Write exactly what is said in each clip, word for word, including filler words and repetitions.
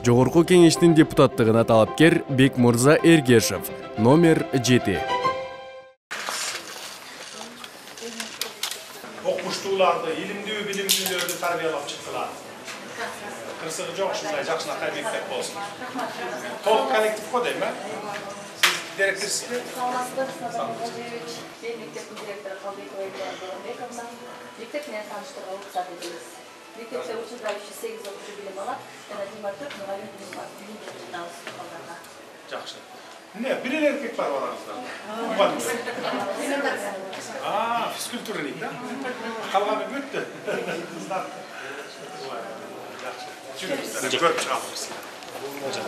Жогорку кеңештин депутаттыгына талапкер Бекмырза Эргешев, номер жети. Окуштууларды, илимдүү, билимдүүлөрдү тарбиялап чыктылар. Кырсыгы жок ушундай жакшынакай мектеп болсун. Толук коллектив го дейм, э? Сиз директорсизби? Мен мектептин директору Калбекова Эльвира. Мектеп менен тааныштырууга уруксат этебиз. Мектепте учурдающий сегиз окуучу билим алат, жана жыйырма төрт мугалим билим беребиз балдарга. Жакшы. Эмне, бир эле эркек бар араңызда? Мугалимдер. А, физкультурник, да? Калганы бүттү. Кыздар. Жакшы. Жүрүңүздөр, көрүп чыгабыз.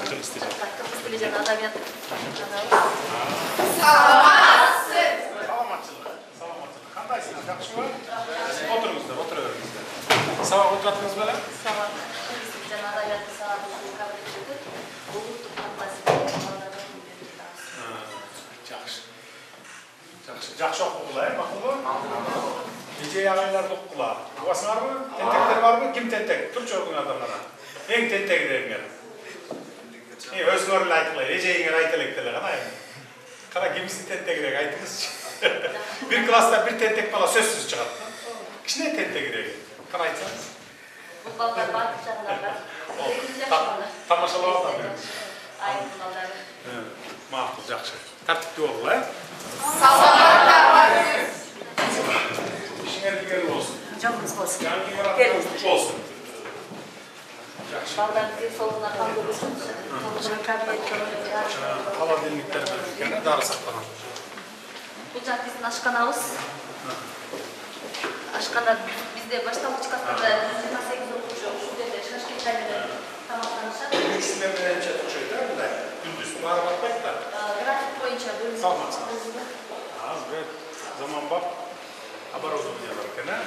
Кыргыз тили. Кыргыз тили жана адабият. Саламатсыз. Саламатчылык. Саламатчылык. Кандайсыңар? Жакшыбы? Отуруңуздар, отура бериңиздер. Сабак отуратыңыз беле? Сабак. Кыргыз тили жана адабиятты сабагыбызды кабыл этип, улуттук катмасыбызды балдарга үйрөтүп атабыз. Жакшы. Жакшы. Жакшы окугула, э, макулбу? Эже агайларды окугула. Угасыңарбы? Тентектер барбы? Ким тентек? Турчу адамдардан. Эң тентегиңер. Э, өзүңөр эле айткыла. Эжеңер айта элек деле кана эми. Кана кимиси тентегирээк айтыңызчы. Бир класста бир тентек бала сөзсүз чыгат. Кичине тентегирээк. Кана айтсаңыз. Бул балдар бардык жагынан бар. Тамашалап атам. Айым балдар. Макул, жакшы. Тартиптүү болгула, э? Саламатсыз. İşinler bir olsun. Canınız olsun. Canınız olsun. Ballar bizi soluna kaldırırsın. Soluna kaldırırsın. Hava dinlikleri verirken darı saklanan. Bu can bizim aşkanamız. Aşkana bizde başlangıç katında yirmi sekiz okuyucu. Şu devre şaşkınlarla tamamlanışlar. Üçünden önce Türkçe'yi değil mi? Gündüz bunlara bakmak da. Grafik boyunca bölüm. Salmaz. Az ve zaman bak. Haber olsun diyorlar ki ne?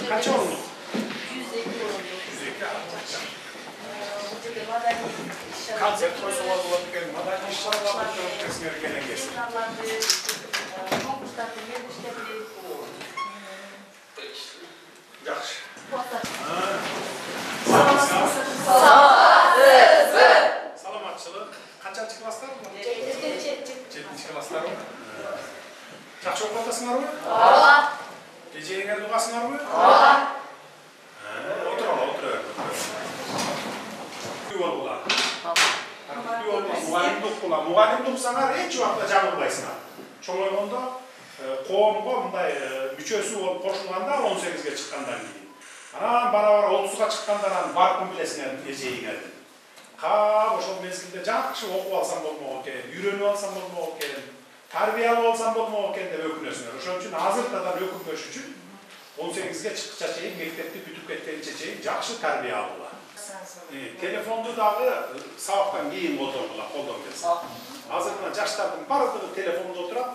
Kaç oldu? yüz iki oldu. yüz iki Konsept koysa olarak gelin. Madem inşallah bu kesmeye gelen gelsin. Yaxşı. Salamatçılık. Kaçıncı klaslar mı? Yedinci klaslar mı? Жақсы оқып жатасыңар ма? Ооба. Эжеңер дугасыңар ма? Ооба. Отур ала, отур бер. Күй болгула. Күй болгула, мугалимди окула. Мугалимди окусаңар эч убакта жаңылбайсыңар. Чоңойгондо коомго мындай мүчөсү болуп кошулганда он сегизге чыккандан кийин. Анан бара-бара отузга чыккандан анан баркын билесиңер эжеңердин. Кап ошол мезгилде жакшы окуп алсам болмок экен, үйрөнүп алсам болмок экен. Тарбиялап алсам болмок экен деп өкүнөсүңөр. Ошон үчүн азыртадан өкүнбөш үчүн он сегизге чыккыча чейин мектепти бүтүп кеткенче чейин жакшы тарбия алгыла. Телефонду дагы сабактан кийин колдонгула, колдон келсе. Азыр жаштардын бардыгы телефондо отурат.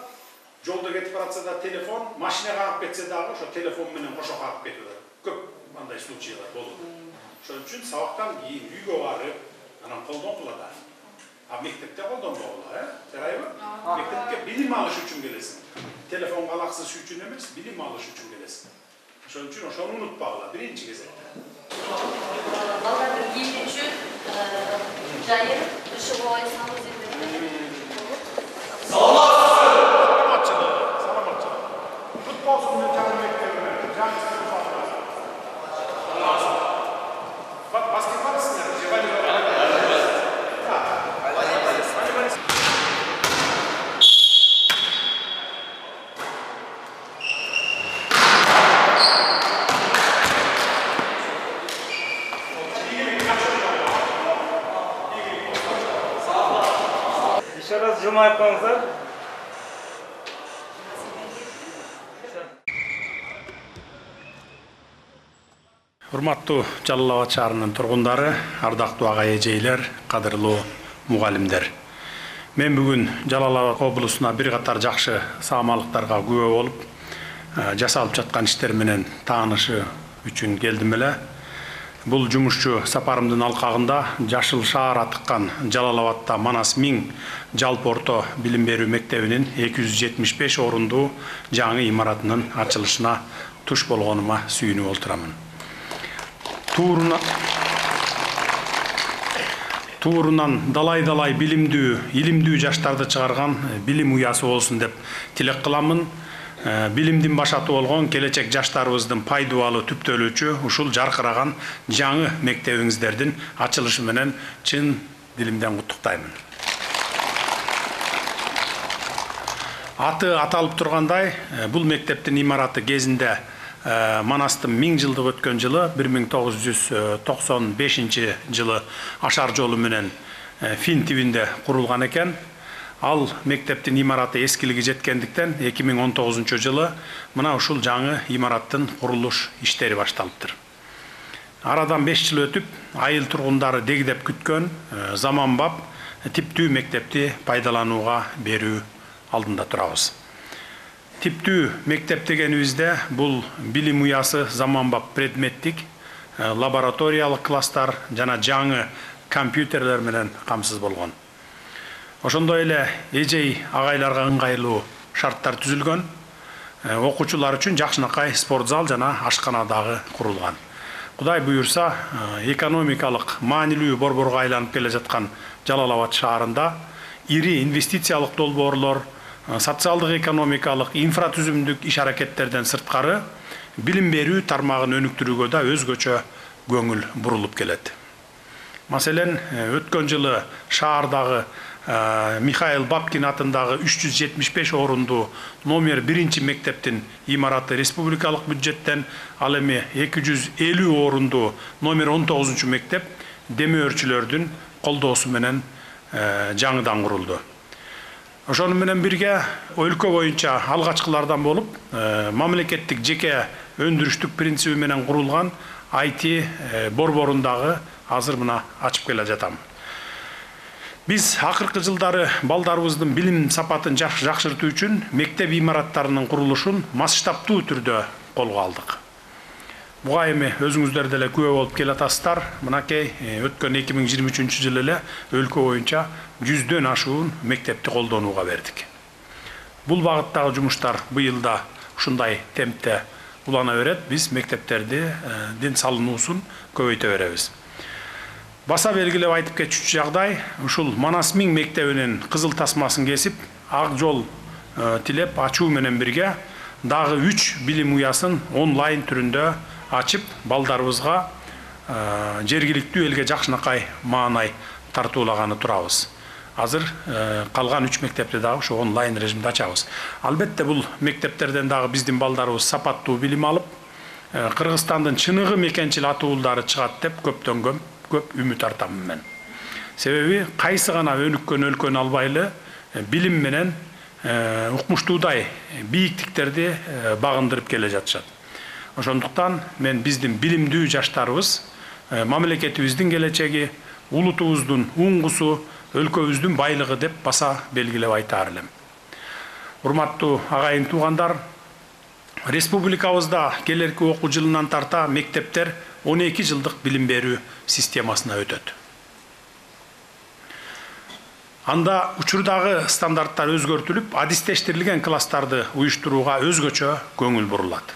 Жолдо кетип баратса да телефон, машинага кагып кетсе дагы ошо телефон менен кошо кагып кетип. Көп андай случайлар болду. Ошон үчүн сабактан кийин үйгө барып, анан колдонгула да. А мектепте колдонбогула, э? Жарайбы? Мектепке билим алыш үчүн келесиң. Телефон алаксыз үчүн эмес, билим алыш үчүн келесиң. Ошон үчүн ошону унутпагыла биринчи кезекте. Балдардын кийими үчүн жайы душевой санузел. Саламатчылык, саламатчылык. Футболсун жаңы мектебине, жаңы сыныпка. Баскетбол сындар, волейбол. Еще раз жылмайып коюңуздар. Урматтуу Жалал Абад шаарынын тургундары, ардактуу агай эжейлер, кадырлуу мугалимдер. Мен бүгүн Жалал Абад облусуна бир катар жакшы саамалыктарга күбө болуп, жасалып жаткан иштер менен таанышы үчүн келдим эле. Бул жумушчу сапарымдын алкагында Жашыл шаар атыккан Жалал Абадта Манас миң жалпы орто билим берүү мектебинин эки жүз жетимиш беш орундуу жаңы имаратынын ачылышына туш болгонума сүйүнүп отурамын. Туурuna туурунан далай-далай билимдүү, илимдүү жаштарды чыгарган билим уясы болсун деп тилек кыламын. Билимдин башаты болгон келечек жаштарыбыздын пайдубалы түптөлүүчү ушул жаркыраган жаңы мектебиңиздердин ачылышы менен чын дилимден куттуктаймын. Аты аталып тургандай, бул мектептин имараты кезинде Манастын миң жылдык өткөн жылы бир миң тогуз жүз токсон бешинчи жылы ашар жолу менен Фин тибинде курулган экен. Ал мектептин имараты эскилиги жеткендиктен эки миң он тогузунчу жылы мына ушул жаңы имараттын курулуш иштери башталыптыр. Арадан беш жыл өтүп, айыл тургундары дегдеп күткөн заманбап типтүү мектепти пайдаланууга берүү алдында турабыз. Типтүү мектеп дегенибизде бул билим уясы заманбап предметтик, лабораториялык класстар жана жаңы компьютерлер менен камсыз болгон. Ошондой эле эжей агайларга ыңгайлуу шарттар түзүлгөн. Окуучулар үчүн жакшынакай спорт зал жана ашкана дагы курулган. Кудай буюрса, экономикалык маанилүү борборго айланып келе жаткан Жалал Абад шаарында ири инвестициялык долбоорлор, социалдык экономикалык инфратүзүмдүк иш аракеттерден сырткары билим берүү тармагын өнүктүрүүгө да өзгөчө көңүл бурулуп келет. Маселен, өткөн жылы шаардагы Михаил Бабкин атындагы үч жүз жетимиш беш орундуу номер биринчи мектептин имараты республикалык бюджеттен, ал эми эки жүз элүү орундуу номер он тогузунчу мектеп демөөрчүлөрдүн колдоосу менен жаңыдан курулду. Ошону менен бирге өлкө боюнча алгачкылардан болуп, мамлекеттик жеке өндүрүштүк принциби менен курулган ай ти борборундагы азыр мына ачып келе жатам. Биз акыркы жылдары балдарыбыздын билим сапатын жакшыртуу үчүн мектеп имараттарынын курулушун масштабтуу түрдө колго алдык. Буга эми өзүңүздөр деле күбө болуп келатасыздар. Мынакей өткөн эки миң жыйырма үчүнчү жылы эле өлкө боюнча жүздөн ашуун мектепти колдонууга бердик. Бул багыттагы жумуштар быйыл да ушундай темпте улана берет. Биз мектептердин салынуусун көбөйтө беребиз. Баса белгилеп айтып кетчү жагдай, ушул Манас миң мектебинин кызыл тасмасын кесип, ак жол тилеп ачуу менен бирге дагы үч билим уясын онлайн түрүндө ачып, балдарыбызга жергиликтүү элге жакшынакай маанай тартуулаганы турабыз. Азыр калган үч мектепти дагы ошо онлайн режимде ачабыз. Албетте бул мектептерден дагы биздин балдарыбыз сапаттуу билим алып, Кыргызстандын чыныгы мекенчил атуулдары чыгат деп көптөн көп көп үмүт артамын мен. Себеби кайсы гана өнүккөн өлкөнү албайлы билим менен укмуштуудай бийиктиктерди багындырып келе жатышат. Ошондуктан мен биздин билимдүү жаштарыбыз мамлекетибиздин келечеги, улутубуздун уңгусу, өлкөбүздүн байлыгы деп баса белгилеп айтаар элем. Урматтуу агайын туугандар, республикабызда келерки окуу жылынан тарта мектептер он эки жылдык билим берүү системасына өтөт. Анда учурдагы стандарттар өзгөртүлүп, адистештирилген класстарды уюштурууга өзгөчө көңүл бурулат.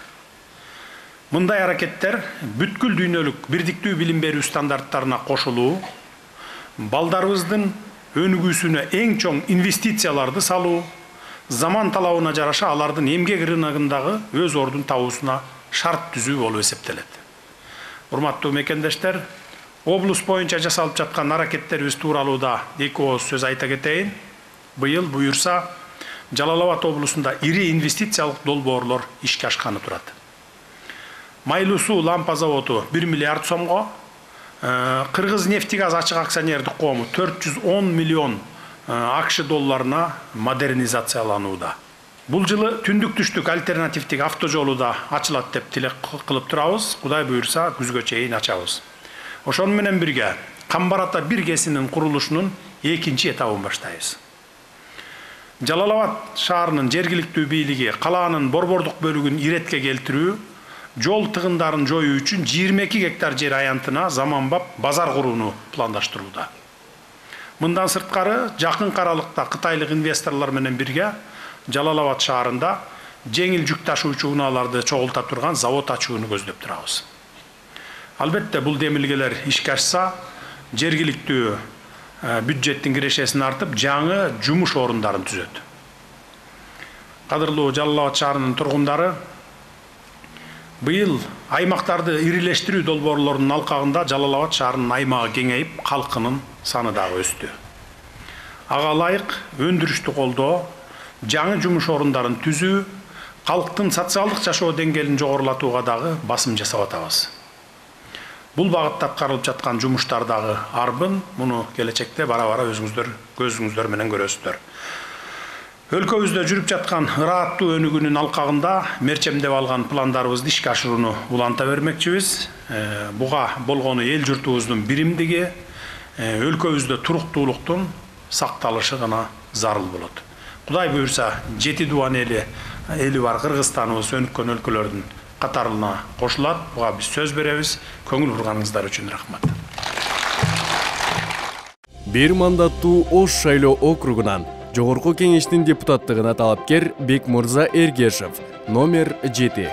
Мындай аракеттер бүткүл дүйнөлүк бирдиктүү билим берүү стандарттарына кошулуу, балдарыбыздын өнүгүүсүнө эң чоң инвестицияларды салуу, заман талабына жараша алардын эмгек рыногундагы өз ордун табуусуна шарт түзүү болуп эсептелет. Урматтуу мекендештер, облус боюнча жасалып жаткан аракеттерибиз тууралууда эки ооз сөз айта кетейин. Быйыл буюрса Жалал Абад облусунда ири инвестициялык долбоорлор ишке ашканы турат. Майлуу суу лампа заводу бир миллиард сомго, Кыргыз нефтегаз ачык акционердик коому төрт жүз он миллион акш долларына модернизацияланууда. Бул жылы түндүк түштүк альтернативдик автожолу да ачылат деп тилек кылып турабыз. Кудай буюрса күзгө чейин ачабыз. Ошону менен бирге Камбар ата бир кесинин курулушунун экинчи этабын баштайбыз. Жалал Абад шаарынын жергиликтүү бийлиги калаанын борбордук бөлүгүн иретке келтирүү, жол тыгындарын жоюу үчүн жыйырма эки гектар жер аянтына заманбап базар курууну пландаштырууда. Мындан сырткары жакын аралыкта кытайлык инвесторлор менен бирге Жалал Абад шаарында жеңил жүк ташуучу унааларды чогулта турган завод ачууну көздөп турабыз. Албетте бул демилгелер ишке ашса, жергиликтүү бюджеттин кирешесин артып, жаңы жумуш орундарын түзөт. Кадырлуу Жалал Абад шаарынын тургундары, быйыл аймактарды ирилештирүү долбоорлорунун алкагында Жалал Абад шаарынын аймагы кеңейип, калкынын саны дагы өстү. Ага ылайык өндүрүштү колдоо, жаңы жумуш орундарын түзүү, калктын социалдык жашоо деңгээлин жогорулатууга дагы басым жасап атабыз. Бул багытта аткарылып жаткан жумуштар дагы арбын, муну келечекте бара-бара өзүңүздөр көзүңүздөр менен көрөсүздөр. Өлкөбүздө жүрүп жаткан ырааттуу өнүгүүнүн алкагында мерчемдеп алган пландарыбызды ишке ашырууну уланта бермекчибиз. Буга болгону эл журтубуздун биримдиги, өлкөбүздө туруктуулуктун сакталышы гана зарыл болот. Кудай буйрса, жети дубан эли, эли бар Кыргызстаныбыз өнүккөн өлкөлөрдүн катарына кошулат. Буга биз сөз беребиз. Көңүл бурганыңыздар үчүн рахмат. Бир мандаттуу Ош шайлоо округунан Жогорку кеңештин депутаттыгына талапкер Бекмурза Эргешев, номер жети.